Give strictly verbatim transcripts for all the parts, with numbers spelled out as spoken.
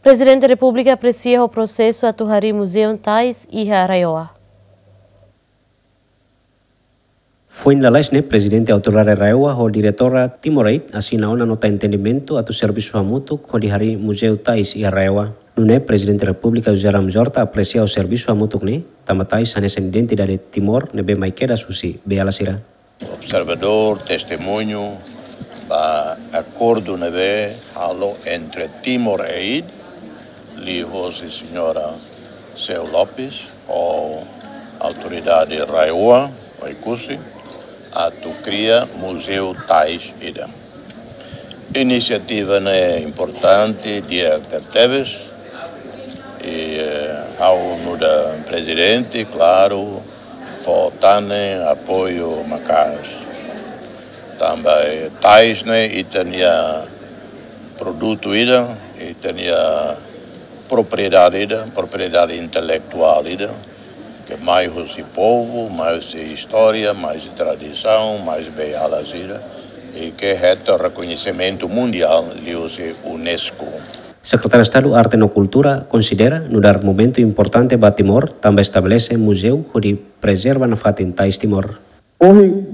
Prezidente Repúblika apresia ho prosesu atu harii Muzeu Tais iha RAEOA. Foin lalais ne'e, Prezidente Autoridade RAEOA ho Diretora Timor Aid asina ona nota entendimentu atu servisu hamutuk hodi harii Muzeu Tais iha RAEOA. Nune'e Prezidente Repúblika José Ramos Horta apresia ho servisu hamutuk ne'e, tanba tais hanesan identidade Timor ne'ebé mai kedas husi beiala sira. Observadór, testemuñu ba akordu ne'ebé halo entre Timor Aid, liuhosi señora Seu Lopes, ho autoridade RAEOA, Oekusi, atu kria Muzeu Tais ida. Inisiativa ne'e importante, di'ak tebes, i, eh, ha'u nu'udar prezidente, klaru, fó tan ne'e apoiu maka'as. Tanba, eh, tais ne'e ita-nia produtu ida, ita-nia propriedade ida, propriedade intelektuál ida, ke mai husi povu, mai husi istória, mai husi tradisaun, mai husi beiala sira, i ke hetan rekoñesimentu mundiál liuhusi UNESCO. Sekretáriu Estadu Arte no Kultura konsidera nu'udar momentu importante ba Timor, tanba estabelese muzeu hodi prezerva nafatin tais Timor. Ohin,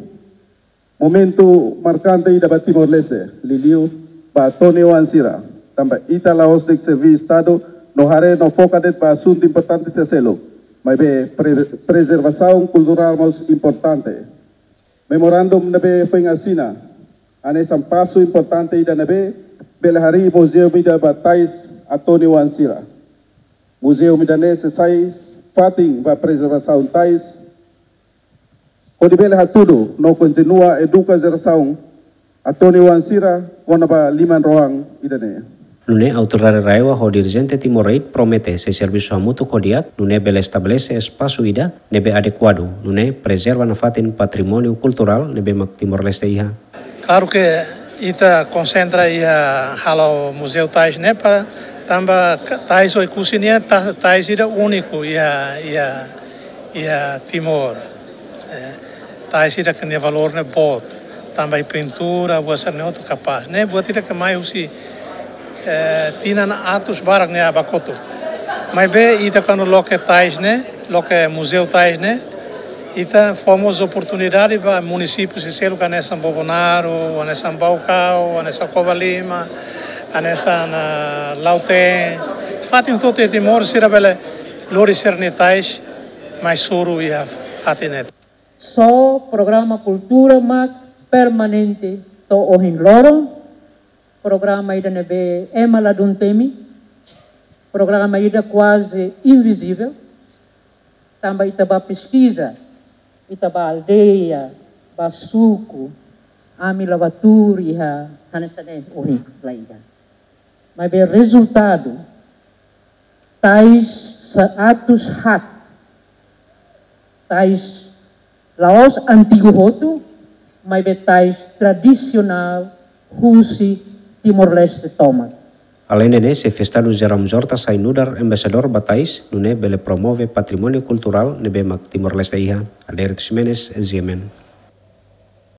momentu markante ida ba Timor-Leste, liuliu ba atoni-oan sira, tanba ita la'ós de'it serví Estadu no haree no foka de'it ba asuntu importante sira seluk, maibé pre-, prezervasaun kulturál mós importante. Memorandum ne'ebé foin asina, hanesan pasu importante ida ne'ebé bele harii muzeu ida ba tais atoni-oan sira. Muzeu ida-ne'e sei sai fatin ba prezervasaun tais, hodi bele hatudu no kontinua eduka jerasaun atoni-oan sira kona-ba liman-rohan ida-ne'e. Nune'e Autoridade RAEOA ho dirijente Timor Aid promete sei servisu hamutuk ho di'ak, nune'e bele estabelese espasu ida ne'ebé adekuadu, nune'e prezerva nafatin patrimóniu kulturál ne'ebé mak Timor-Leste iha. Klaru ke ita konsentra iha halo Muzeu Tais ne'e para tanba ka-, tais Oekusi nian ta-, tais ida úniku iha, iha, iha Timor. Eh, tais ida ke nia valór ne'e boot. Tanba iha pintura, buat sira-ne'e hotu kapás. Ne'e buat ida ke mai husi, eh, tinan atus barak ne'e ba kotuk. Maibé ita kuandu loke tais ne'e, loke Muzeu Tais ne'e, ita fó mós oportunidade ba munisípiu sira seluk hanesan Bobonaro, hanesan Baucau, hanesan Covalima, hanesan, ah, Lautém. Fatin hotu-hotu iha Timor sira bele lori sira-nia tais mai soru iha fatin ne'e. Só programa kultura mak permanente to'o ohin loron, programa ida ne'ebé ema ladún temi, programa ida kuaze invizivel, tanba ita bá peskiza, ita bá aldeia, bá suku, ami la bá tuur iha hanesan ne'e ohin, la iha. Maibé rezultadu, tais seratus haat, tais la'ós antigu hotu, maibé tais tradisionál husi Timor-Leste tomak. Aleinde ne'e, Xefe Estadu José Ramos Horta sai nu'udar embaixadór ba tais, nune'e bele promove patrimóniu kulturál ne'ebé mak Timor-Leste iha. Adérito Ximenes, G M N.